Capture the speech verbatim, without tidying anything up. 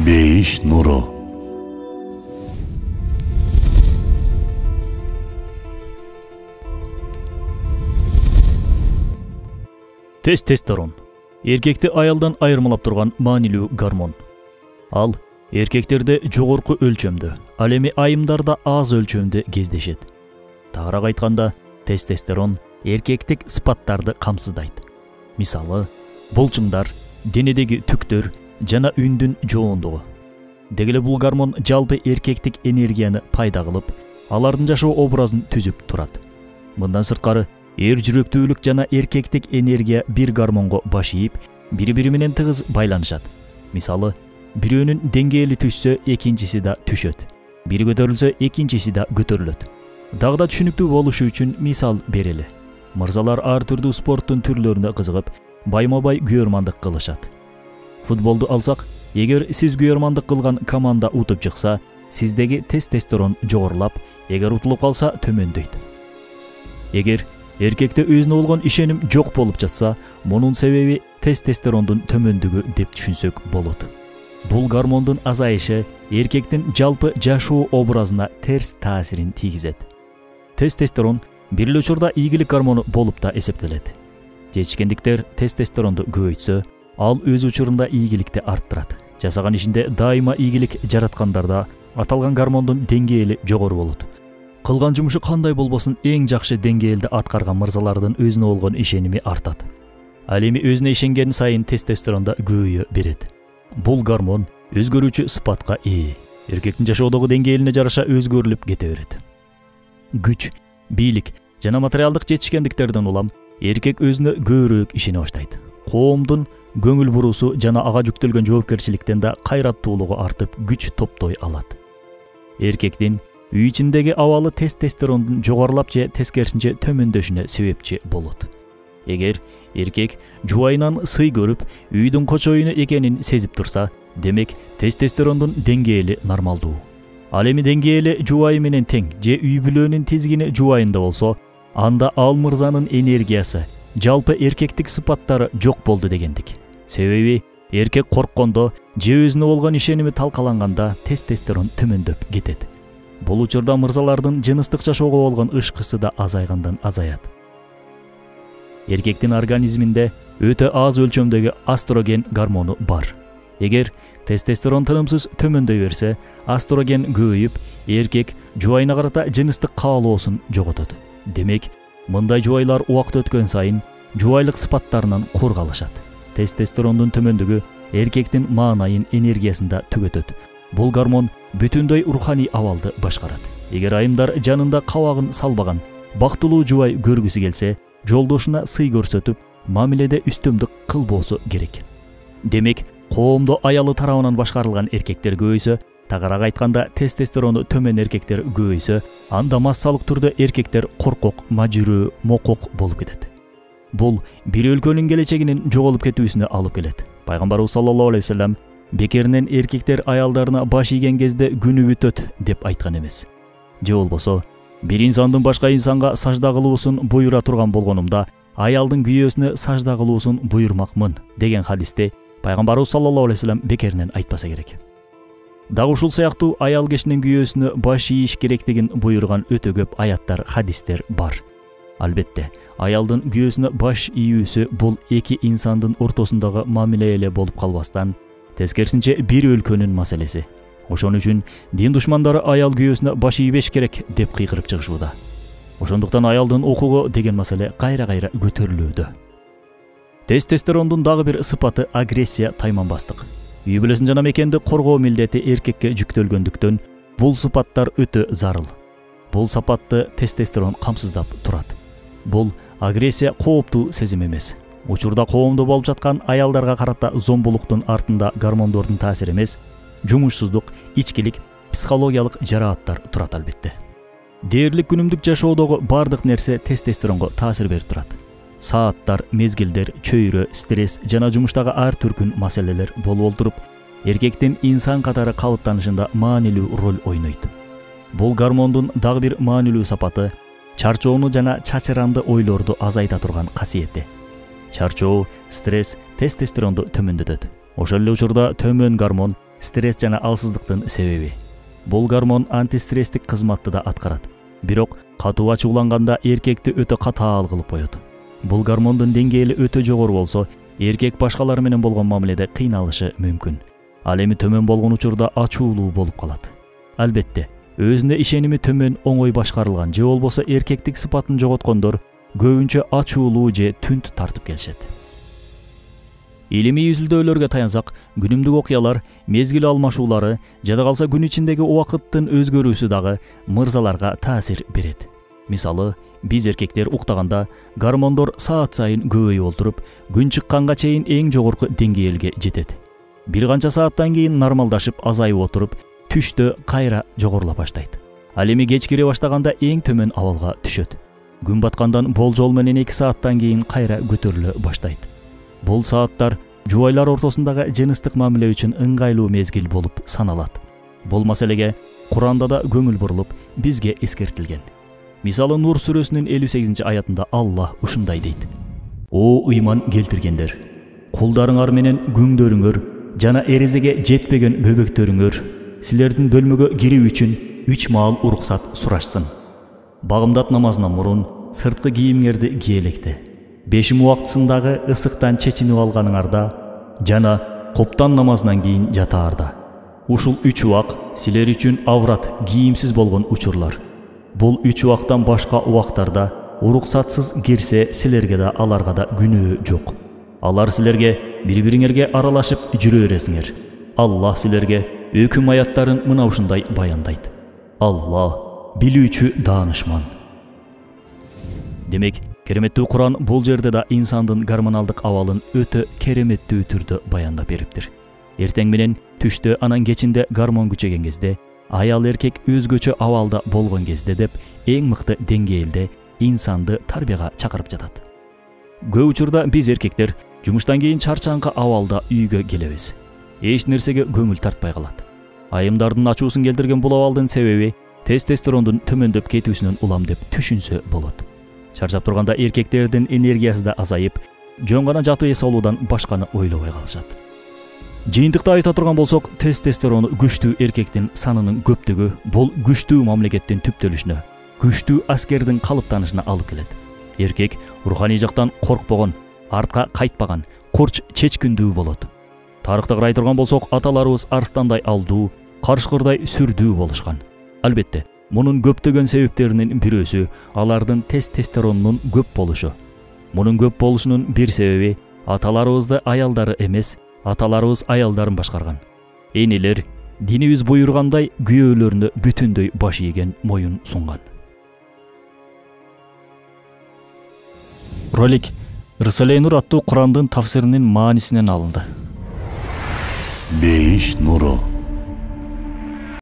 Бейиш нуру. Тестостерон эркекти аялдан айырмалап турган маанилүү гормон. Ал эркектерде жогорку өлчөмдө, ал эми айымдарда аз өлчөмдө кездешет. Тагыраак айтканда, тестостерон эркектик сыпаттарды камсыздайт. Мисалы, булчуңдар, денедеги түктөр жана үндүн жоондугу. Деги эле бул гормон жалпы эркектик энергияны пайда кылып, алардын жашоо образын түзүп турат. Мындан сырткары, эр жүрөктүүлүк жана эркектик энергия бир гормонго баш ийип, бири-бири менен тыгыз байланышат. Мисалы, бирөөнүн деңгээли түшсө, экинчиси да түшөт. Бири көтөрүлсө, экинчиси да көтөрүлөт. Дагы да түшүнүктүү болушу үчүн мисал берели. Мырзалар ар түрдүү спорттун түрлөрүнө кызыгып, байма-бай күйөрмандык кылышат. Футболду алсак, эгер сиз күйөрмандык кылган команда утуп чыкса, сиздеги тестостерон жогорулап, эгер утулуп калса, төмөндөйт. Эгер эркекте өзүнө болгон ишеним жок болуп жатса, мунун себеби тестостерондун төмөндүгү деп түшүнсөк болот. Бул гормондун азайышы эркектин жалпы жашоо образына терс таасирин тийгизет. Тестостерон бир эле учурда ийгилик гормону болуп да эсептелет. Жетишкендиктер тестостеронду көбөйтсө, ал өз учурунда ийгиликти арттырат. Жасаган ишинде дайыма ийгилик жараткандарда аталган гормондун деңгээли жогору болот. Кылган жумушу кандай болбосун эң жакшы деңгээлде аткарган мырзалардын өзүнө болгон ишеними артат. Ал эми өзүнө ишенген сайын тестостеронда көбөйө берет. Бул гормон өзгөрүүчү сыпатка ээ. Эркектин жашоодогу деңгээлине жараша өзгөрүлүп кете берет. Күч, бийлик жана материалдык жетишкендиктерден улам эркек өзүнө көбүрөөк ишене баштайт. Коомдун көңүл буруусу жана ага жүктөлгөн жоопкерчиликтен да кайраттуулугу артып, күч топтой алат. Эркектин үй ичиндеги абалы тестостерондун жогорулап же тескерисинче төмөндөшүнө себепчи болот. Эгер эркек жубайынан сый көрүп, үйдүн кочоюну экенин сезип турса, демек тестостерондун деңгээли нормалдуу. Ал эми деңгээли жубайы менен тең же үй бүлөнүн тизгини жубайында болсо, анда ал мырзанын энергиясы, жалпы эркектик сыпаттары жок болду дегендик. Себеби эркек корккондо же өзүнө болгон ишеними талкаланганда тестостерон төмөндөп кетет. Бул учурда мырзалардын жыныстык жашоого болгон ышкысы да азайгандан азаят. Эркектин организминде өтө аз өлчөмдөгү астроген гормону бар. Эгер тестостерон тынымсыз төмөндөй берсе, астроген көбөйүп, эркек жубайына карата жыныстык каалоосун жоготот. Демек, мындай жубайлар убакыт өткөн сайын жубайлык сыпаттарынан кур калышат. Тестостерондун төмөндүгү эркектин маанайын, энергиясын да түгөтөт. Бул гормон бүтүндөй руханий абалды башкарат. Эгер айымдар жанында кабагын салбаган, бактылуу жубай көргүсү келсе, жолдошуна сый көрсөтүп, мамиледе үстөмдүк кылбоосу керек. Демек, коомдо аялы тарабынан башкарылган эркектер көбөйсө, тагыраак айтканда тестостерону төмөн эркектер көбөйсө, анда массалык түрдө эркектер коркок, мажүрөө, мокок болуп кетет. Бул бир өлкөнүн келечегинин жоголуп кетүүсүнө алып келет. Пайгамбарыбыз саллаллаху алейхи ва саллям бекеринен эркектер аялдарына баш ийген кезде күнү бүтөт деп айткан эмес. Же болбосо, бир инсандын башка инсанга сажда кылуусун буйрура турган болгонумда, аялдын күйөөсүнө сажда кылуусун буйрмакмын деген хадисте Пайгамбарыбыз саллаллаху алейхи ва саллям бекеринен айтпаса керек. Дагы ушул сыяктуу аял кишинин күйөөсүнө баш ийиш керектигин буйруган өтө көп аяттар, хадистер бар. Албетте, аялдын күйөөсүнө баш ийүүсү бул эки инсандын ортосундагы мамиле эле болуп калбастан, тескерисинче бир өлкөнүн маселеси. Ошон үчүн дин душмандары аял күйөөсүнө баш ийбеш керек деп кыйкырып чыгышууда. Ошондуктан аялдын укугу деген маселе кайра-кайра көтөрүлүүдө. Тестостерондун дагы бир сыпаты агрессия, тайманбастык. Үй бүлөсүн жана мекенди коргоо милдети эркекке жүктөлгөндүктөн, бул сыпаттар өтө зарыл. Бул сапатты тестостерон камсыздап турат. Бул агрессия кооптуу сезим эмес. Учурда коомдо болуп жаткан аялдарга карата зомбулуктун артында гормондордун таасири эмес, жумушсуздук, ичкилик, психологиялык жарааттар турат албетте. Дээрлик күнүмдүк жашоодогу бардык нерсе тестостеронго таасир берип турат. Сааттар, мезгилдер, чөйрө, стресс жана жумуштагы ар түркүн маселелер болуп олтуруп, эркектин инсан катары калыптанышында маанилүү роль ойнойт. Бул гормондун дагы бир маанилүү сапаты чарчоону жана чачыранды ойлорду азайта турган касиети. Чарчоо, стресс тестостеронду төмөндөтөт. Ошол эле учурда төмөн гормон стресс жана алсыздыктын себеби. Бул гормон антистресстик кызматты да аткарат. Бирок катуу ачууланганда эркекти өтө катаал кылып коет. Бул гормондун деңгээли өтө жогору болсо, эркек башкалар менен болгон мамиледе кыйналышы мүмкүн. Ал эми төмөн болгон учурда ачуулуу болуп калат. Албетте, өзүнө ишеними төмөн, оңой башкарылган же болбосо эркектик сыпатын жоготкондор көбүнчө ачуулуу же түнт тартып келишет. Илимий изилдөөлөргө таянсак, күнүмдүк окуялар, мезгил алмашуулары, жада калса күн ичиндеги убакыттын өзгөрүүсү дагы мырзаларга таасир берет. Мисалы, биз эркектер уктаганда гормондор саат сайын көбөйүп олтуруп, күн чыкканга чейин эң жогорку деңгээлге жетет. Бир канча сааттан кийин нормалдашып азайып отуруп, түштө кайра жогорулап баштайт. Ал эми кеч кире баштаганда эң төмөн абалга түшөт. Күн баткандан болжол менен эки сааттан кийин кайра көтөрүлө баштайт. Бул сааттар жубайлар ортосундагы жыныстык мамиле үчүн ыңгайлуу мезгил болуп саналат. Бул маселеге Куранда да көңүл бурулуп, бизге эскертилген. Мисалы, Нур сүрөсүнүн элүү сегизинчи аятында Аллах ушундай дейт: "О ыйман келтиргендер, кулдарыңар менен күңдөрүңөр жана эрезеге жетпеген бөбөктөрүңөр силердин бөлмөгө кирүү үчүн үч маал уруксат сурашсын. Багымдат намазынан мурун сырткы кийимиңерди киелекте. Бешим убактысындагы ысыктан чечинип алганыңарда жана коптан намазынан кийин жатаарда. Ушул үч убак силер үчүн аврат, кийимсиз болгон учурлар. Бул үч убактан башка убактарда уруксатсыз кирсе, силерге да аларга да күнөө жок. Алар силерге бири-бириңерге аралашып жүрө бересиңер. Аллах силерге өкүм аяттарын мына ушундай баяндайт. Аллах билүүчү, даанышман." Демек, кереметтүү Куран бул жерде да инсандын гормоналдык абалын өтө кереметтүү түрдө баяндап бериптир. Эртең менен, түштө, анан кечинде гормон күчөгөн кезде, аял эркек өзгөчө абалда болгон кезде деп эң мыкты деңгээлде инсанды тарбияга чакырып жатат. Көп учурда биз эркектер жумуштан кийин чарчаңкы абалда үйгө келебиз. Эч нерсеге көңүл тартпай калат. Айымдардын ачуусун келтирген бул абалдын себеби тестостерондун төмөндөп кетүүсүнөн улам деп түшүнсө болот. Чарчап турганда эркектердин энергиясы да азайып, жөн гана жатып эс алуудан башканы ойлобой калышат. Жыйынтыкта айта турган болсок, тестостерон күчтүү эркектин санынын көптүгү бул күчтүү мамлекеттин түптөлүшүнө, күчтүү аскердин калыптанышына алып келет. Эркек руханий жактан коркпогон, артка кайтпаган, курч чечкиндүү болот. Тарыхты карай турган болсок, аталарыбыз арстандай алдуу, карышкырдай сүрдүү болушкан. Албетте, мунун көптөгөн себептеринин бирөөсү алардын тестостеронунун көп болушу. Мунун көп болушунун бир себеби аталарыбызды аялдары эмес, аталарыбыз аялдарын башкарган. Энелер динибиз буйругандай күйөөлөрүнө бүтүндөй баш ийген, моюн сунган. Ролик Рисале Нур аттуу Курандын тафсиринин маанисинен алынды. Бейиш нуру.